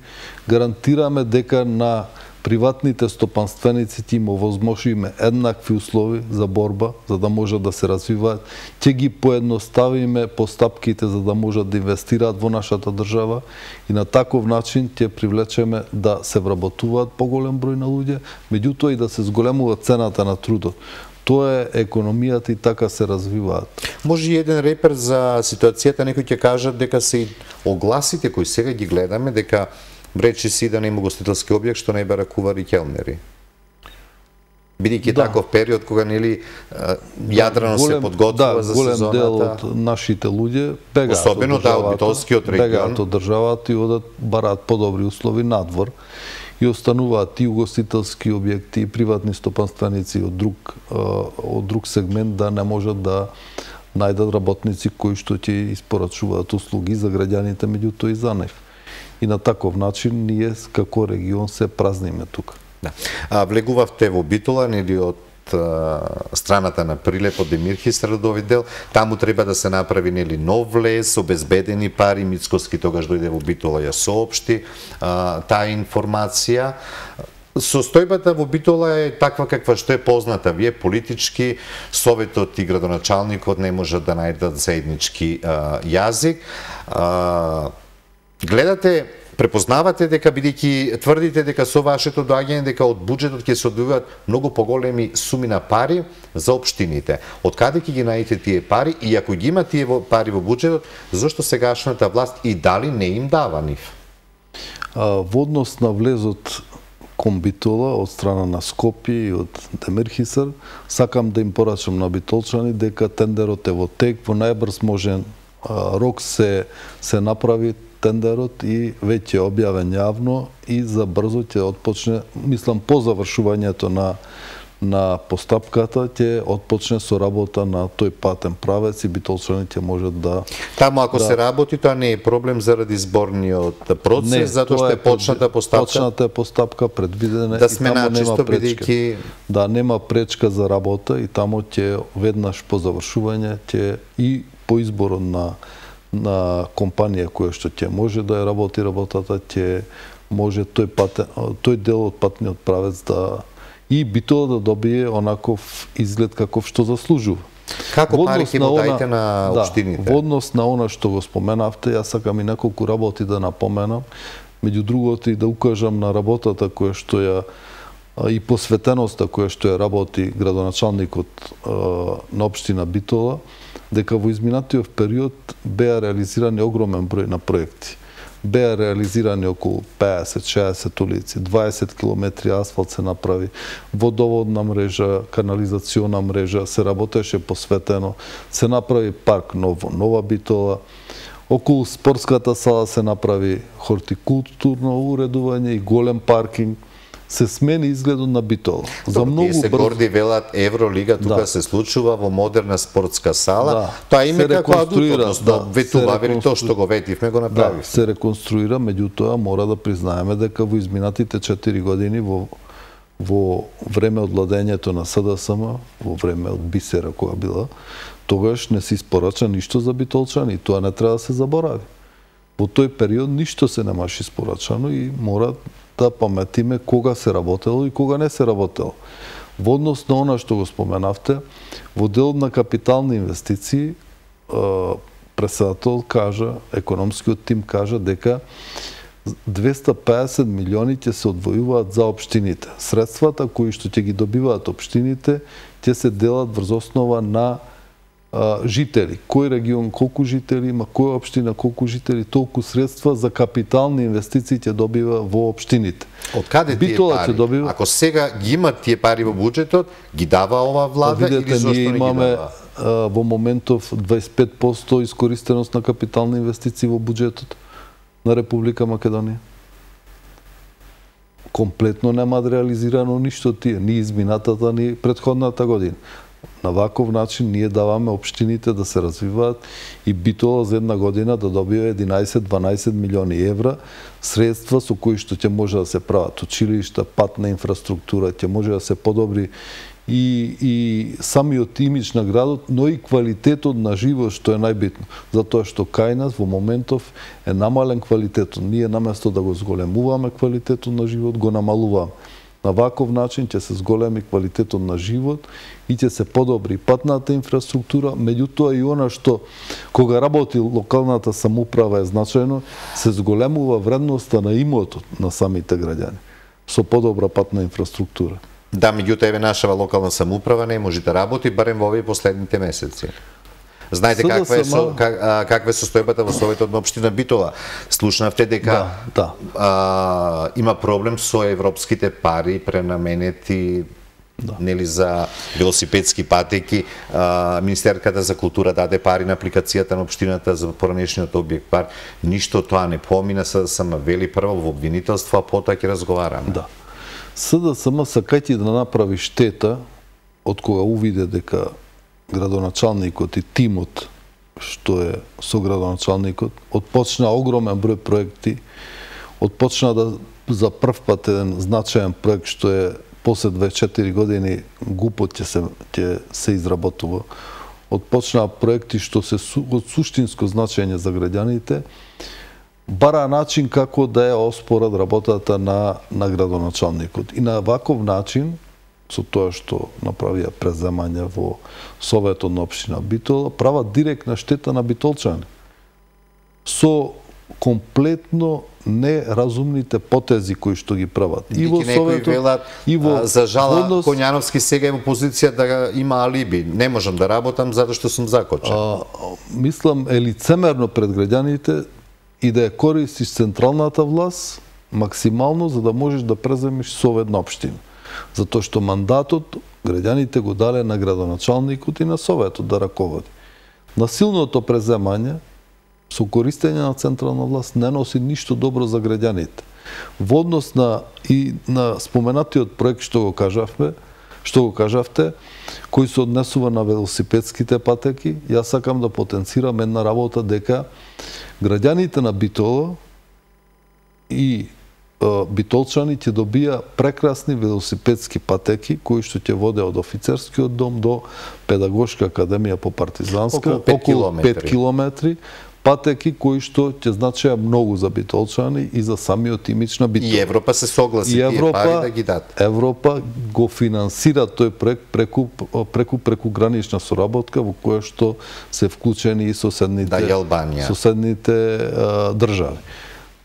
гарантираме дека на приватните стопанственици ќе им овозможиме еднакви услови за борба, за да можат да се развиваат, ќе ги поедноставиме постапките за да можат да инвестираат во нашата држава и на таков начин ќе привлечеме да се вработуваат поголем број на луѓе, меѓутоа и да се зголемува цената на трудот. Тоа е економијата и така се развиваат. Може и еден репер за ситуацијата, некои ќе кажат дека се огласите кои сега ги гледаме, дека речи си да нема гостителски објект што не бара кувари и келнери. Бидејќи да. Таков период кога нели јадрено голем, се подготвува да, за голем сезоната. Дел од нашите луѓе бегаат особено од државата, да, од битолскиот регион, бегаат од државата и одат бараат подобри услови надвор и остануваат и угостителски објекти и приватни стопанственици од друг од друг сегмент да не можат да најдат работници кои што ќе испорачуваат услуги за граѓаните, меѓутоа и за нив. и на таков начин ние како регион се празниме тука. Да. А, влегувавте во Битола, нели од страната на Прилеп од Демирхистар до овој дел, таму треба да се направи нели нов влез, обезбедени пари, Мицкоски тогаш дојде во Битола ја соопшти а, таа информација. Состојбата во Битола е таква каква што е позната. Вие политички, советот и градоначалникот не можат да најдат заеднички а, јазик. А, гледате, препознавате дека, бидејќи тврдите дека со вашето доаѓање дека од буџетот ќе се одвојуваат многу поголеми суми на пари за општините. Од каде ќе ги најдете тие пари и ако ги има тие пари во буџетот, зошто сегашната власт и дали не им дава нив? А, во однос на влезот кон Битола од страна на Скопје и од Демирхистар, сакам да им порачам на битолчани дека тендерот е во тек, во најбрз можен а, рок се се направи тендерот и веќе е објавен јавно и за брзо ќе отпочне, мислам по завршувањето на на постапката ќе отпочне со работа на тој патен правец и битолчаните можат да... Таму ако да... се работи, тоа не е проблем заради зборниот процес, затоа што е почната постапка? Почната е постапка, предвидена да сме начисто, бидејќи... Да, нема пречка за работа и таму ќе веднаш по завршување ќе и по изборот на на компанија која што ќе може да ја работи работата, ќе може тој патен, тој дел од патниот правец да и Битола да добие онаков изглед каков што заслужува. Како пари ќе му дајте на општините? Да, во однос на она што го споменавте, јас сакам и неколку работи да напоменам, меѓу другото и да укажам на работата која што ја и посветеноста која што ја работи градоначалникот на општина Битола, дека во изминатиот период беа реализирани огромен број на проекти. Беа реализирани околу пеесет шеесет улици, дваесет километри асфалт се направи, водоводна мрежа, канализациона мрежа, се работеше посветено, се направи парк Ново, Нова Битола, околу спортската сала се направи хортикултурно уредување и голем паркинг, се смени изгледот на Битола. За многу брзо... се горди велат Евролига, тука да. Се случува во модерна спортска сала. Да. Тоа име како адут, односно, да, ветува, вели тоа што го ветивме, го направивме. Да, се реконструира, меѓутоа мора да признаеме дека во изминатите четири години во во време од владењето на СДСМ, во време од Бисера која била, тогаш не се испорача ништо за битолчани и тоа не треба да се заборави. Во тој период ништо се немаше испорачано и мора да паметиме кога се работело и кога не се работело. Во однос на она што го споменавте, во делот на капитални инвестиции, председател кажа, економскиот тим кажа дека двесте и педесет милиони ќе се одвојуваат за општините. Средствата кои што ќе ги добиваат општините ќе се делат врз основа на жители. Кој регион колку жители има, која општина колку жители, толку средства за капитални инвестиции ќе добива во општините. Од каде тие пари? Добива... Ако сега ги имат тие пари во буџетот, ги дава ова влада видете, или зошто не ги имаме, дава? А, во моментов дваесет и пет проценти искористеност на капитални инвестиции во буџетот на Република Македонија. Комплетно нема реализирано ништо тие, ни изминатата, ни претходната година. На ваков начин ние даваме општините да се развиваат и Битола за една година да добие единаесет до дванаесет милиони евра средства со кои што ќе може да се прават училишта, патна инфраструктура, ќе може да се подобри и, и самиот имидж на градот, но и квалитетот на живот што е најбитно. Затоа што кај нас во моментов е намален квалитетот. Ние наместо да го зголемуваме квалитетот на живот, го намалуваме. На ваков начин ќе се зголеми квалитетот на живот и ќе се подобри патната инфраструктура, меѓутоа и она што кога работи локалната самоуправа е значајно, се зголемува вредноста на имотот на самите граѓани со подобра патна инфраструктура. Да, меѓутоа еве нашава локална самоуправа не може да работи барем во овие последните месеци. Знаете каква е со, как, а, каква е состојбата во Советот на општина Битола? Слушнавте дека да, да. А, има проблем со европските пари пренаменети да. Нели за велосипедски патеки. А, Министерката за култура даде пари на апликацијата на општината за поранешниот објект парк. Ништо тоа не помина, СДСМ вели прво во обвинителство, а потоа ќе разговараме. Да. СДСМ сакајќи да направи штета од кога увиде дека градоначалникот и тимот што е со градоначалникот отпочна огромен број проекти отпочна да за прв пат еден значаен проект што е после дваесет и четири години ГУП-от ќе се ќе се изработува. Отпочнаа проекти што се од суштинско значење за граѓаните, бара начин како да ја оспорат работата на на градоначалникот. И на ваков начин, со тоа што направија преземање во Советот на општина Битола, прават директна штета на битолчани. Со комплетно неразумните потези кои што ги прават. И во Советот, велат, и во за жала однос... Коњановски сега е во позиција да има алиби. Не можам да работам затоа што сум закочен. А, мислам е лицемерно пред граѓаните и да ја користиш централната власт максимално за да можеш да преземиш Совет на општина. Затоа што мандатот граѓаните го дале на градоначалникот и на Советот да раководи. Насилното преземање со користење на централна власт не носи ништо добро за граѓаните. Во однос на и на споменатиот проект што го кажавме, што го кажавте, кој се однесува на велосипедските патеки, јас сакам да потенцирам една работа дека граѓаните на Битола и битолчани ќе добија прекрасни велосипедски патеки кои што ќе воде од офицерскиот дом до педагошка академија по партизанска, околу пет километри, патеки кои што ќе значеа многу за битолчани и за самиот имидж на Битола. И Европа се согласи и Европа, тие пари да ги даде. Европа го финансира тој проект преку преку преку гранична соработка во која што се вклучени и соседните да, и Албанија. соседните а, држави.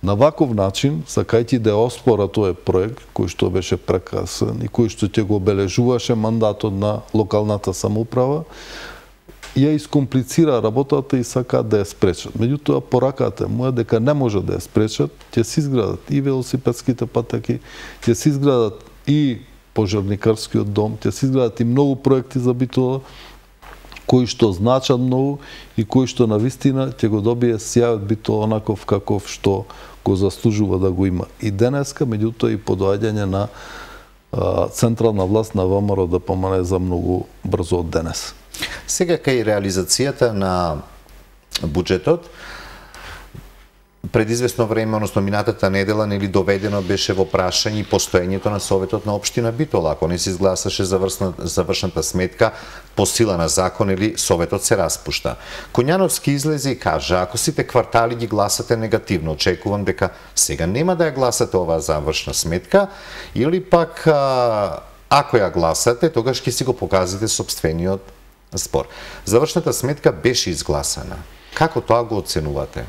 На ваков начин, сакајќи да оспора тој проект кој што беше прекрасен и кој што ќе го обележуваше мандатот на локалната самоуправа, ја искомплицира работата и сакаат да ја спречат. Меѓутоа, пораката му е дека не може да ја спречат, ќе се изградат и велосипедските патеки, ќе се изградат и пожарникарскиот дом, ќе се изградат и многу проекти за Битола, кои што значат многу и кои што навистина ќе го добие сјајот Битола онаков каков што го заслужува да го има. И денеска, меѓутоа и подоаѓање на а, централна власт на ВМРО да помане за многу брзо од денес. Сега кај реализацијата на буџетот, пред известно време, односно минатата недела, нели доведено беше во прашање постоењето на Советот на општина Битола. Ако не се изгласаше завршна, завршната сметка по сила на закон, или Советот се распушта. Коњановски излезе и кажа, ако сите квартали ги гласате негативно, очекувам дека сега нема да ја гласате оваа завршна сметка, или пак а, ако ја гласате, тогаш ќе си го показате собствениот спор. Завршната сметка беше изгласана. Како тоа го оценувате?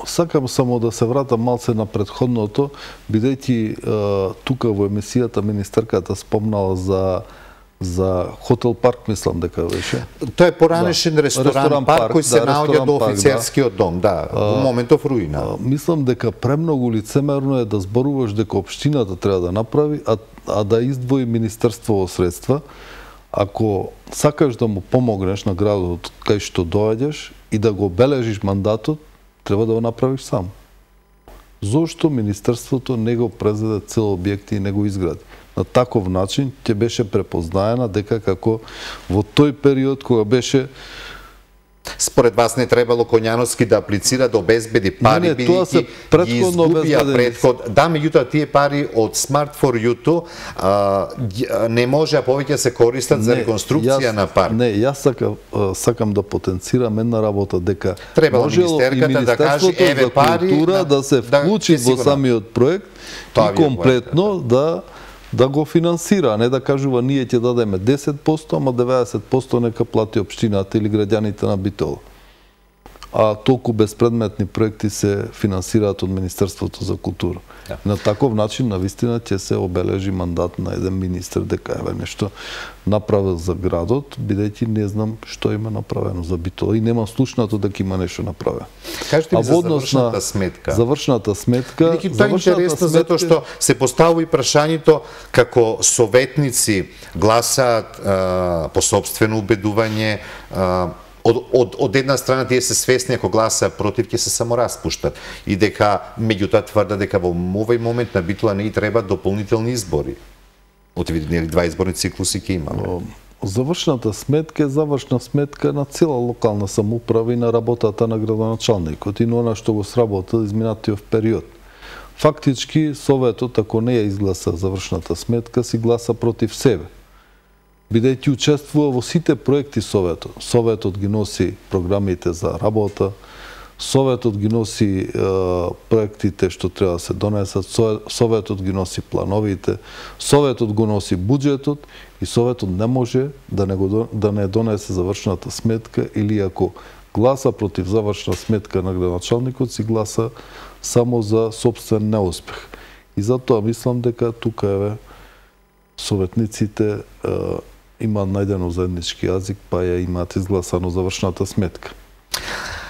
Сакам само да се вратам малце на предходното, бидејќи тука во емисијата министерката спомнала за за хотел парк, мислам дека беше. Тоа е поранешен да. ресторан, ресторан парк, парк кој се да, наоѓа до офицерскиот да. дом, да, во моментов руина. А, мислам дека премногу лицемерно е да зборуваш дека општината треба да направи, а, а да издвои министерство во средства. Ако сакаш да му помогнеш на градот кај што доаѓаш и да го бележиш мандатот, треба да го направиш сам. Зошто министерството не го презеде цел објекти и не го изгради? На таков начин ќе беше препознаена дека како во тој период кога беше Според вас не требало Коњановски да аплицира да обезбеди пари, бидејќи ги изгубија предход. Да, меѓутоа тие пари од Smart for You не може повеќе се користат не, за реконструкција јас, на парк. Не, јас сакам, сакам да потенцирам една работа дека требало можело и Министерството да каже еве пари култура да се вклучи да, во самиот проект и комплетно да да го финансира, а не да кажува ние ќе дадеме десет проценти, ама деветдесет проценти нека плати општината или граѓаните на Битола. А толку безпредметни проекти се финансираат од Министерството за култура. Ja. На таков начин, навистина, ќе се обележи мандат на еден министр дека еве нешто направил за градот, бидејќи не знам што има направено за Битола и нема слушнато дека има нешто направено. Кажете ми за завршната сметка. Завршната сметка. Бидејќи тоа е интересно сметка... затоа што се поставува и прашањето како советници гласаат а, по собствено убедување, а, Од, од, од една страна тие се свесни ако гласаа против ќе се само распуштат и дека меѓутоа тврда дека во овој момент на Битола не и треба дополнителни избори. Очевидно два изборни циклуси ќе имаме. Завршната сметка е завршна сметка на цела локална самоуправа и на работата на градоначалникот и на она што го сработил изминатиот период. фактички Советот, ако не ја изгласа завршната сметка, си гласа против себе. Бидејќи учествува во сите проекти Советот. Советот ги носи програмите за работа, Советот ги носи е, проектите што треба да се донесат, Советот ги носи плановите, Советот го носи буџетот и Советот не може да не, го, да не донесе завршната сметка или ако гласа против завршна сметка на градоначалникот, си гласа само за собствен неуспех. И затоа мислам дека тука еве советниците е, имаат најдено заеднички јазик, па ја имаат изгласано завршната сметка.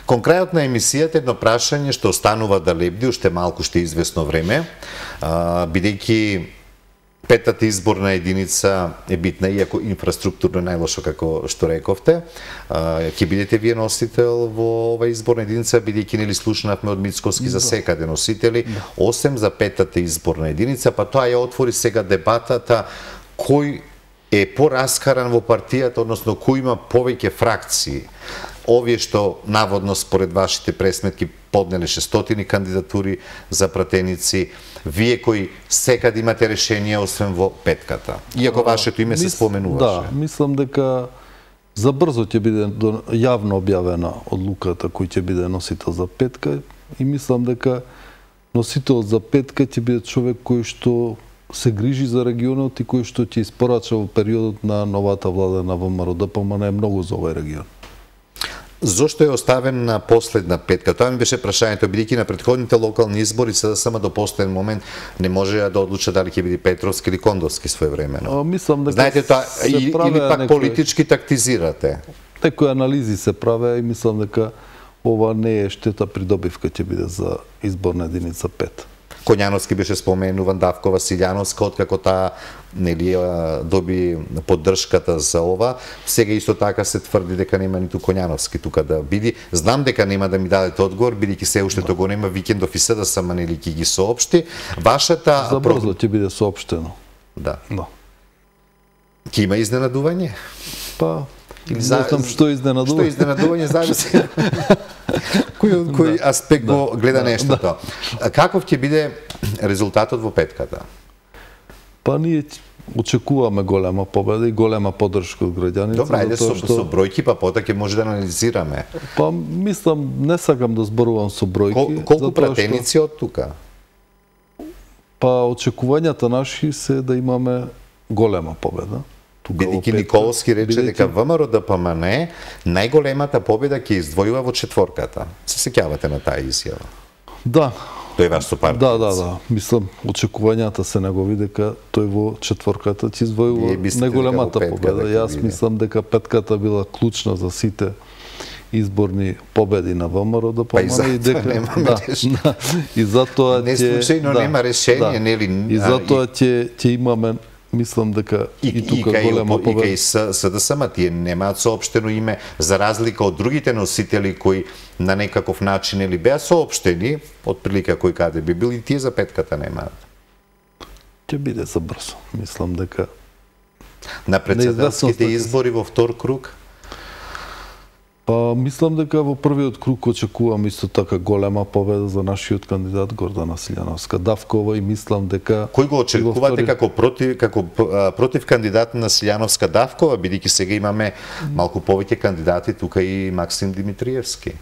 Кон крајот на емисијата едно прашање што останува да лебди уште малку, што е известно време, бидејќи петата изборна единица е битна, иако инфраструктурно најлошо, како што рековте. Ќе бидете вие носител во ова изборна единица, бидејќи нели слушнавме од Мицкоски за секаде носители, осем за петата изборна единица, па тоа ја отвори сега дебатата кој е пораскаран во партијата, односно кој има повеќе фракции. Овие што наводно според вашите пресметки поднеле шестстотини кандидатури за пратеници, вие кои секаде имате решение освен во петката. Иако вашето име се споменуваше. Да, мислам дека за брзо ќе биде јавно објавена одлуката кој ќе биде носител за петка и мислам дека носител за петка ќе биде човек кој што се грижи за регионот и кој што ќе испорача во периодот на новата влада на ВМРО-ДПМН многу за овој регион. Зошто е оставен на последна петка? Тоа ми беше прашањето, бидејќи на претходните локални избори СДСМ до последен момент не може да одлуча дали ќе биде Петровски или Кондовски своевремено. А, мислам дека знаете тоа или, или пак некој... политички тактизирате? Некои анализи се праве и мислам дека ова не е штета придобивка ќе биде за изборна единица пет. Коњановски беше споменуван, Давкова, Силјановска, откако таа нели доби поддршката за ова. Сега исто така се тврди дека нема ниту Коњановски тука да биде. Знам дека нема да ми дадете одговор, бидејќи се уште тоа го нема, викендов и СДСМ нели ќе ги соопшти. Вашата за брзо ќе биде соопштено. Да. Да. Ќе има изненадување? Па не знам што изненадување. Што изненадување, зависи. Кој, кој да, аспект да, го гледа да, нештото. Да. Каков ќе биде резултатот во петката? Па ние очекуваме голема победа и голема поддршка од граѓаните. Добра, ајде со, што... со бројки, па потоа ќе може да анализираме. Па мислам, не сакам да зборувам со бројки. Кол, колку пратеници што... од тука? Па очекувањата наши се да имаме голема победа. Бидејќи Николовски рече дека ВМРО-ДПМН најголемата победа ќе издвојува во четворката. Се сеќавате на таа изјава? Да. Тој е ваш сопартиец. Да, да, да. Мислам, очекувањата се негови дека тој во четворката ќе издвојува најголемата победа. Јас мислам дека петката била клучна за сите изборни победи на ВМРО-ДПМН. Па и затоа дека... немаме да, решение. Да, и затоа не случајно да, нема решение, да, нели? И затоа ќе ќе имаме, мислам дека и, и тука и голема победа. И кај СДСМ тие немаат соопштено име, за разлика од другите носители кои на некаков начин или беа соопштени, од прилика кој каде би бил, и тие за петката немаат. Ќе биде за брзо. Мислам дека на председателските избори во втор круг? Па мислам дека во првиот круг очекувам исто така голема победа за нашиот кандидат Гордана Силјановска Давкова и мислам дека кој го очекувате втори... како против како против кандидат на Силјановска Давкова, бидејќи сега имаме малку повеќе кандидати тука и Максим Димитриевски.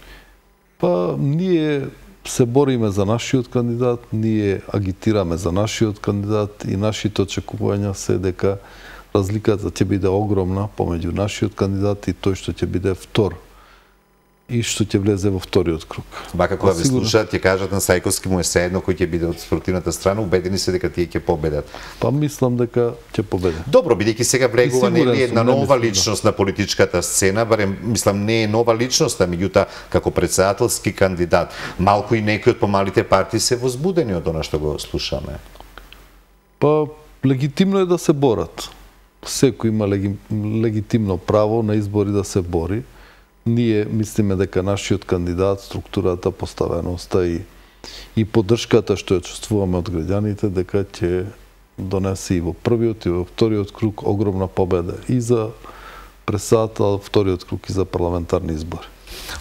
Па ние се бориме за нашиот кандидат, ние агитираме за нашиот кандидат и нашите очекувања се дека разликата ќе биде огромна помеѓу нашиот кандидат и тој што ќе биде втор и што ќе влезе во вториот круг. Вака кога ви слушаат, ќе кажат на Сајковски му е седно кој ќе биде од спротивната страна, убедени се дека тие ќе победат. Па мислам дека ќе победе. Добро, бидејќи сега влегува нели една нова личност на политичката сцена, барем мислам не е нова личност, а меѓутоа како председателски кандидат, малку и некои од помалите партии се возбудени од она што го слушаме. Па легитимно е да се борат. Секој има легитимно право на избори да се бори. Ние мислиме дека нашиот кандидат, структурата, поставеноста и, и поддршката што ја чувствуваме од граѓаните, дека ќе донесе и во првиот и во вториот круг огромна победа и за председател, вториот круг и за парламентарни избори.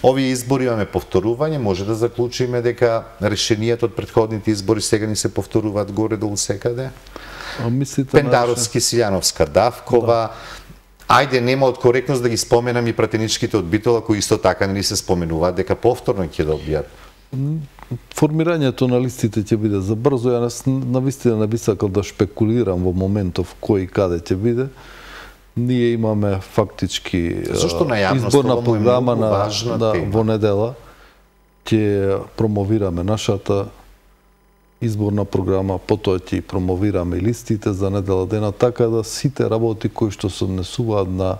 Овие избори имаме повторување, може да заклучиме дека решенијата од претходните избори сега ни се повторуваат горе-долу секаде? Пендаровски, Силјановска, Давкова, ајде, нема од коректност да ги споменам и пратеничките од Битола, кои исто така не се споменуваат дека повторно ќе добијат. Формирањето на листите ќе биде за брзо. Ја навистина не би сакал да шпекулирам во моментов кој и каде ќе биде. Ние имаме фактички изборна програма на, да, во недела. Ќе промовираме нашата изборна програма, потоа ќе промовираме и листите за недела дена, така да сите работи кои што се однесуваат на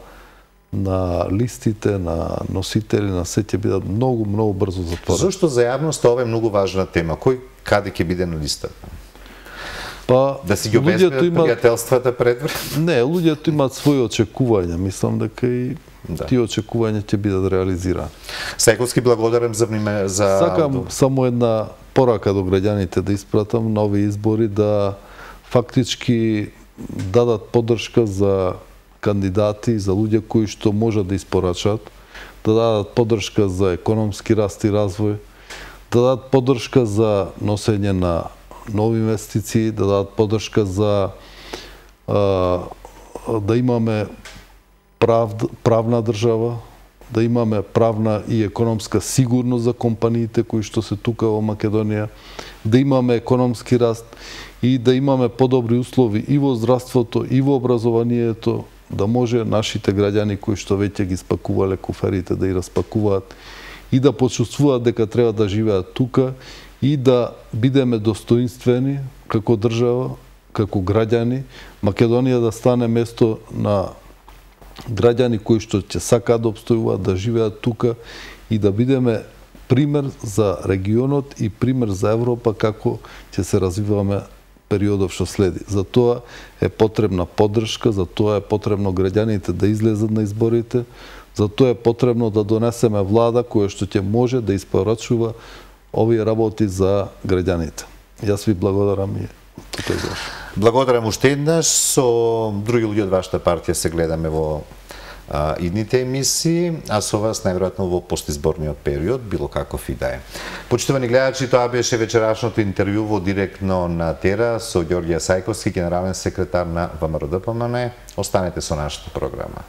на листите, на носители, на се ќе бидат многу, многу брзо затворени. Зошто за јавноста ова е многу важна тема? Кој каде ќе биде на листата? Па, да си ги обезбедат пријателствата предварно? Не, луѓето имаат своји очекувања. Мислам дека и да. Тие очекувања ќе бидат реализирани. Сајковски, благодарам за внимание. За... Сакам само една порака до граѓаните да испратам на овие избори, да фактички дадат поддршка за кандидати, за луѓе кои што можат да испорачат, да дадат поддршка за економски раст и развој, да дадат поддршка за носење на нови инвестиции, да дадат поддршка за а, да имаме прав, правна држава, да имаме правна и економска сигурност за компаниите кои што се тука во Македонија, да имаме економски раст и да имаме подобри услови и во здравството, и во образованието, да може нашите граѓани кои што веќе ги спакувале куферите да ги распакуваат и да почувствуваат дека треба да живеат тука и да бидеме достоинствени како држава, како граѓани, Македонија да стане место на граѓани кои што ќе сакаат да обстојуваат, да живеат тука и да бидеме пример за регионот и пример за Европа како ќе се развиваме периодов што следи. За тоа е потребна поддршка, за тоа е потребно граѓаните да излезат на изборите, за тоа е потребно да донесеме влада која што ќе може да испорачува овие работи за граѓаните. Јас ви благодарам и тука завршувам. Благодарам уште еднаш. Со други луѓе од вашата партија се гледаме во а, идните емисии, а со вас најверојатно во постизборниот период, било каков и да е. Почитувани гледачи, тоа беше вечерашното интервју во Директно на Тера со Ѓорѓе Сајковски, генерален секретар на ВМРО ДПМН. Останете со нашата програма.